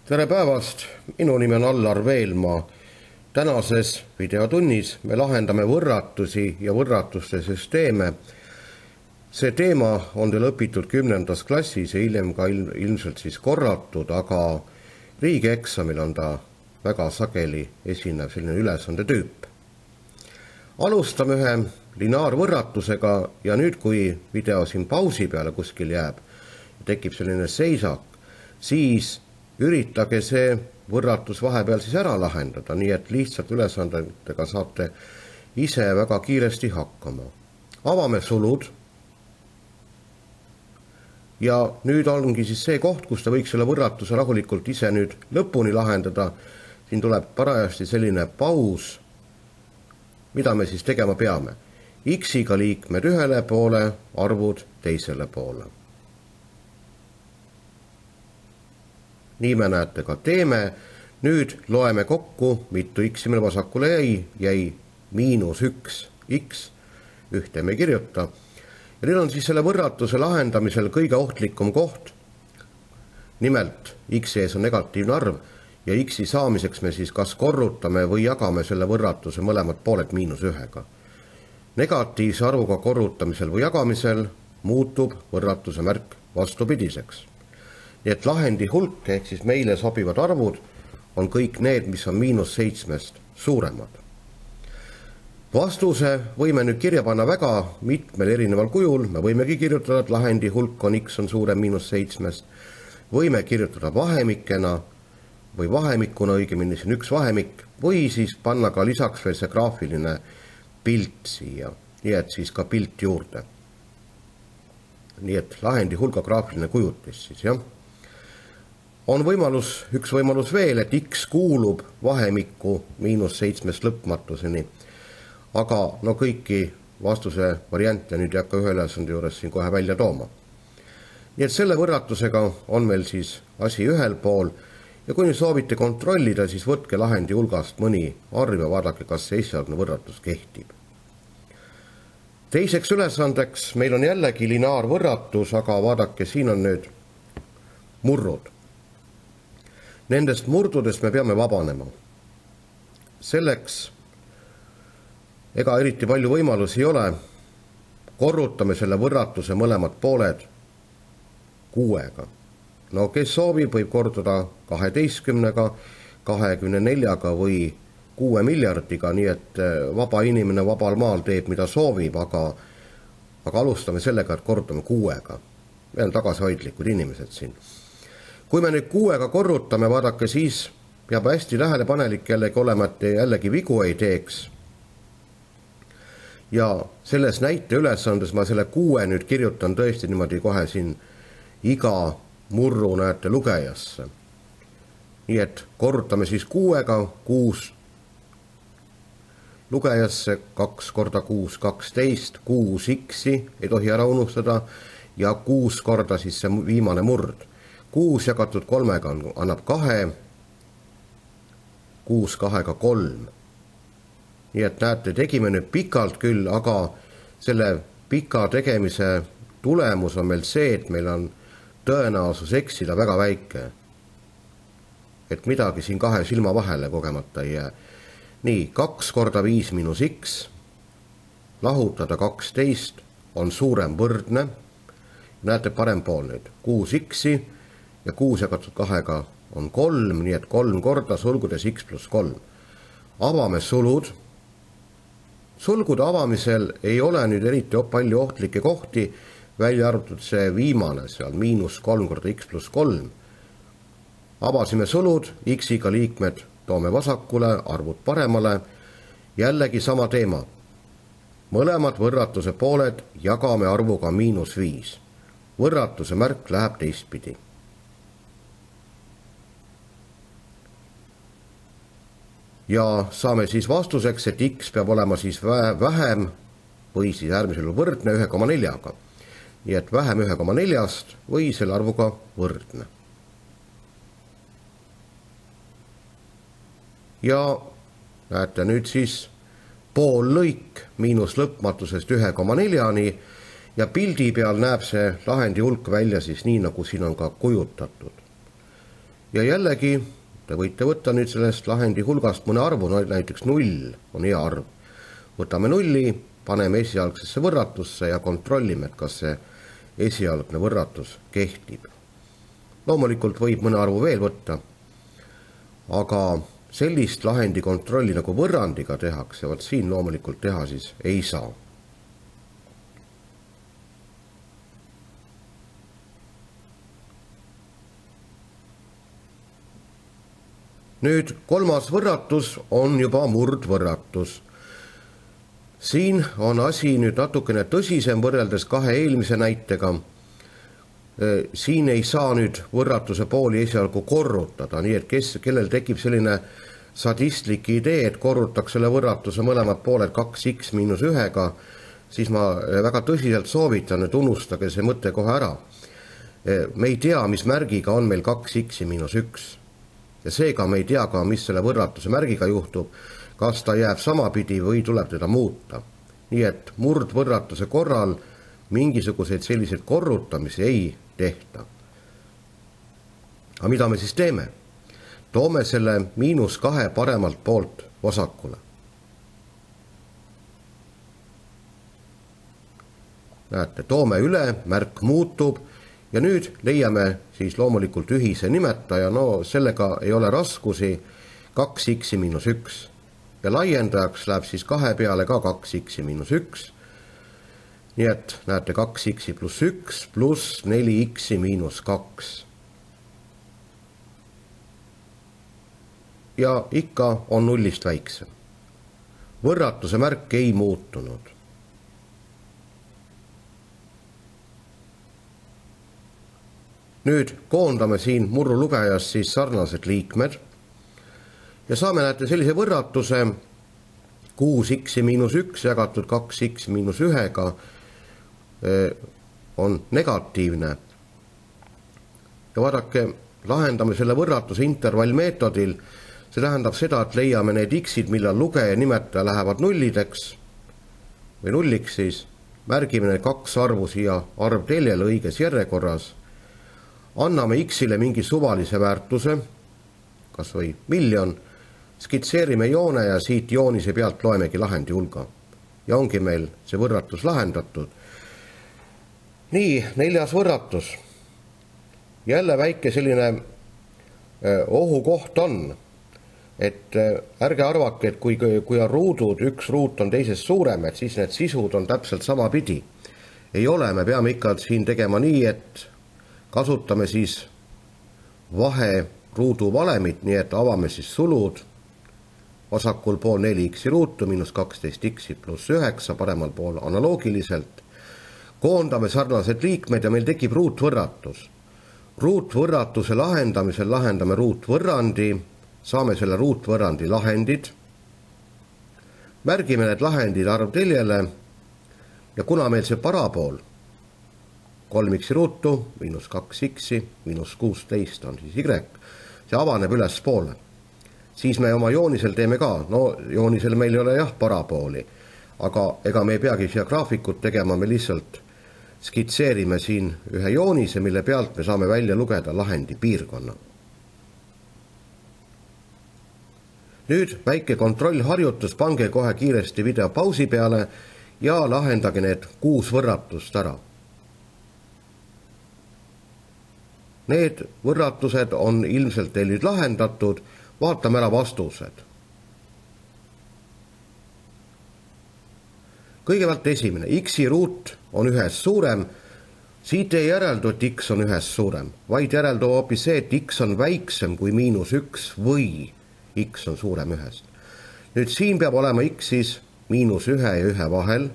Tere päevast, minu nimi on Allar Veelmaa. Tänases videotunnis me lahendame võrratusi ja võrratuste süsteeme. See teema on teil õpitud 10. klassis ja hiljem ka ilmselt siis korratud, aga riigieksamil on ta väga sageli esinev selline ülesande tüüp. Alustame ühe lineaarvõrratusega ja nüüd, kui video siin pausi peale kuskil jääb ja tekib selline seisak, siis üritage see võrratus vahepeal siis ära lahendada, nii et lihtsalt ülesandetega saate ise väga kiiresti hakkama. Avame sulud ja nüüd ongi siis see koht, kus te võiks selle võrratuse rahulikult ise nüüd lõpuni lahendada. Siin tuleb parajasti selline paus, mida me siis tegema peame. X-iga liikmed ühele poole, arvud teisele poole. Nii me näete ka teeme. Nüüd loeme kokku, mitu x-i meil vasakule jäi -1 x, ühte me kirjuta. Ja nüüd on siis selle võrratuse lahendamisel kõige ohtlikum koht. Nimelt, x ees on negatiivne arv ja x-i saamiseks me siis kas korrutame või jagame selle võrratuse mõlemad pooled -1-ga. Negatiivse arvuga korrutamisel või jagamisel muutub võrratuse märk vastupidiseks. Nii et lahendi hulk ehk siis meile sobivad arvud on kõik need, mis on -7 suuremad. Vastuse võime nüüd kirja panna väga mitmel erineval kujul. Me võimegi kirjutada, et lahendi hulk on x on suurem -7. Võime kirjutada vahemikena või vahemikuna, õigemini siin üks vahemik, või siis panna ka lisaks veel see graafiline pilt siia, nii et siis ka pilt juurde. Nii et lahendi hulga graafiline kujutis siis, jah. On üks võimalus veel, et x kuulub vahemikku -7 lõpmatuseni, aga no kõiki vastuse variante nüüd ei hakka ühe ülesande juures siin kohe välja tooma. Nii et selle võrratusega on meil siis asi ühel pool ja kui nüüd soovite kontrollida, siis võtke lahendi hulgast mõni arv ja vaadake, kas see esialgne võrratus kehtib. Teiseks ülesandeks meil on jällegi lineaarvõrratus, aga vaadake, siin on nüüd murrud. Nendest murdudest me peame vabanema. Selleks ega eriti palju võimalusi ei ole. Korrutame selle võrratuse mõlemad pooled 6-ga. No kes soovib, võib korrutada 12-ga, 24-ga või 6 miljardiga, nii et vaba inimene vabal maal teeb, mida soovib, aga alustame sellega, et korrutame 6-ga. Me on tagasihoidlikud inimesed siin. Kui me nüüd 6-ga korrutame, vaadake, siis peab hästi tähelepanelik jällegi olema, et jällegi vigu ei teeks. Ja selles näite ülesandes ma selle 6 nüüd kirjutan tõesti niimoodi kohe siin iga murru näete lugejasse. Nii et korrutame siis 6-ga 6 lugejasse, 2 korda 6, 12, 6 x-i, ei tohi ära unustada, ja 6 korda siis see viimane murd. 6 jagatud 3-ga annab 2, 6 2-ga 3. Nii et näete, tegime nüüd pikalt küll, aga selle pika tegemise tulemus on meil see, et meil on tõenäosus eksida väga väike. Et midagi siin 2 silma vahele kogemata ei jää. Nii, 2 korda 5 miinus x, lahutada 12 on suurem võrdne. Näete parem pool nüüd, 6 x-i ja 6 jagatud 2-ga on 3, nii et 3 korda sulgudes x + 3. Avame sulud. Sulgude avamisel ei ole nüüd eriti palju ohtlikke kohti, välja arvatud see viimane seal, -3 korda x + 3. Avasime sulud, x-iga liikmed toome vasakule, arvud paremale. Jällegi sama teema. Mõlemad võrratuse pooled jagame arvuga -5. Võrratuse märk läheb teistpidi. Ja saame siis vastuseks, et x peab olema siis vähem või siis äärmisel võrdne 1,4-ga. Nii et vähem 1,4-st või selle arvuga võrdne. Ja näete nüüd siis pool lõik miinus lõpmatusest 1,4-ni ja pildi peal näeb see lahendi hulk välja siis nii, nagu siin on ka kujutatud. ja jällegi te võite võtta nüüd sellest lahendi hulgast mõne arvu, näiteks 0 on hea arv. Võtame 0, paneme esialgsesse võrratusse ja kontrollime, et kas see esialgne võrratus kehtib. Loomulikult võib mõne arvu veel võtta, aga sellist lahendi kontrolli nagu võrrandiga tehakse, vot siin loomulikult teha siis ei saa. Nüüd kolmas võrratus on juba murdvõrratus. Siin on asi nüüd natukene tõsisem võrreldes kahe eelmise näitega. Siin ei saa nüüd võrratuse pooli esialgu korrutada, nii et kellel tekib selline sadistlik idee, et korrutaks selle võrratuse mõlemad pooled 2x miinus 1-ga, siis ma väga tõsiselt soovitan, et unustage see mõte kohe ära. Me ei tea, mis märgiga on meil 2x miinus 1. Ja seega me ei tea ka, mis selle võrratuse märgiga juhtub, kas ta jääb samapidi või tuleb teda muuta. Nii et murdvõrratuse korral mingisuguseid selliseid korrutamisi ei tehta. Aga mida me siis teeme? Toome selle -2 paremalt poolt vasakule. Näete, toome üle, märk muutub. Ja nüüd leiame siis loomulikult ühise nimetaja, no sellega ei ole raskusi, 2x miinus 1. Ja laiendajaks läheb siis 2 peale ka 2x miinus 1. Nii et näete 2x pluss 1 pluss 4x miinus 2. Ja ikka on 0-st väiksem. Võrratuse märk ei muutunud. Nüüd koondame siin murrulugejas siis sarnased liikmed ja saame näete sellise võrratuse 6x miinus 1 jagatud 2x miinus 1-ga on negatiivne. Ja vaadake, lahendame selle võrratuse intervallmeetodil, see tähendab seda, et leiame need x-id, millal lugeja nimetaja lähevad nullideks või nulliks siis, märgime need 2 arvu siia arvteljele õiges järjekorras, anname x-ile mingi suvalise väärtuse, kas või 1,000,000, skitseerime joone ja siit joonise pealt loemegi lahendi hulga. Ja ongi meil see võrratus lahendatud. Nii, 4. võrratus. Jälle väike selline ohukoht on, et ärge arvake, et kui on ruudud, üks ruut on teisest suurem, et siis need sisud on täpselt sama pidi. Ei ole, me peame ikka siin tegema nii, et kasutame siis vahe ruudu valemit, nii et avame siis sulud, vasakul pool 4x ruutu miinus 12x pluss 9, paremal pool analoogiliselt. Koondame sarnased liikmed ja meil tekib ruutvõrratus. Ruutvõrratuse lahendamisel lahendame ruutvõrrandi, saame selle ruutvõrrandi lahendid, märgime need lahendid arvteljele ja kuna meil see parapool 3x ruutu miinus 2x miinus 16 on siis y, see avaneb ülespoole. Siis me oma joonisel teeme ka, no joonisel meil ei ole jah parapooli, aga ega me ei peagi siia graafikut tegema, me lihtsalt skitseerime siin ühe joonise, mille pealt me saame välja lugeda lahendi piirkonna. Nüüd väike kontrollharjutus, pange kohe kiiresti video pausi peale ja lahendage need 6 võrratust ära. Need võrratused on ilmselt teil nüüd lahendatud, vaatame ära vastused. Kõigepealt esimene, x-i ruut on 1-st suurem, siit ei järeldu, et x on 1-st suurem, vaid järeldu hoopis see, et x on väiksem kui -1 või x on suurem 1-st. Nüüd siin peab olema x-is -1 ja 1 vahel,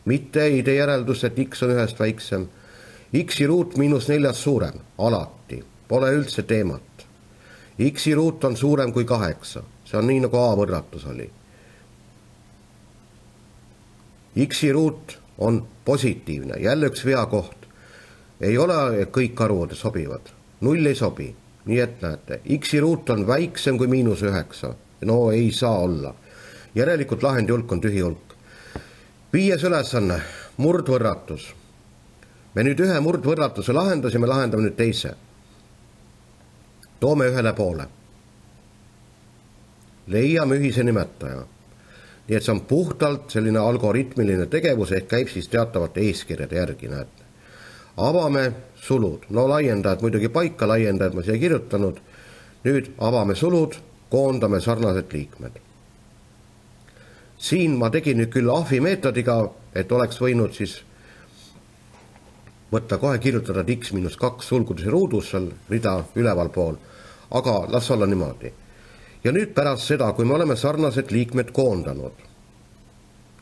mitte ei tee järeldust, et x on 1-st väiksem. X-i ruut -4 suurem, alati, pole üldse teemat. X-i ruut on suurem kui 8, see on nii nagu A võrratus oli. X-i ruut on positiivne, jälle üks veakoht. Ei ole kõik arvud sobivad, 0 ei sobi, nii et näete, X-i ruut on väiksem kui -9, no ei saa olla. Järelikult lahendi hulk on tühi hulk. 5. ülesanne, murdvõrratus. Me nüüd ühe murdvõrratuse lahendasime, lahendame nüüd teise. toome ühele poole. Leiame ühise nimetaja. Nii et see on puhtalt selline algoritmiline tegevus, ehk käib siis teatavate eeskirjade järgi, näete. Avame sulud, no laiendajad muidugi paika, laiendajad ma siia kirjutanud. Nüüd avame sulud, koondame sarnased liikmed. Siin ma tegin nüüd küll ahvi meetodiga, et oleks võinud siis võtta kohe kirjutada x-2 sulgudes ruudus seal rida üleval pool, aga las olla niimoodi. Ja nüüd pärast seda, kui me oleme sarnased liikmed koondanud,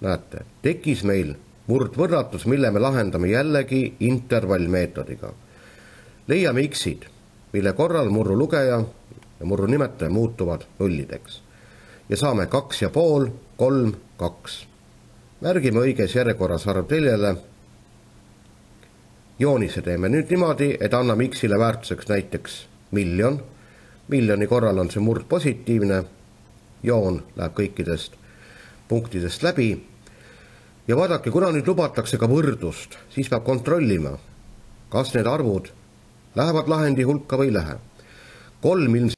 näete, tekkis meil murdvõrratus, mille me lahendame jällegi intervallmeetodiga. Leiame x-id, mille korral murru lugeja ja murru nimetaja muutuvad nullideks. Ja saame 2,5, 3, 2. Märgime õiges järjekorras arvteljele. Joonise teeme nüüd niimoodi, et anname x-ile väärtuseks näiteks 1,000,000. Miljoni korral on see murd positiivne. Joon läheb kõikidest punktidest läbi. Ja vaadake, kuna nüüd lubatakse ka võrdlust, siis peab kontrollima, kas need arvud lähevad lahendi hulka või ei lähe. 3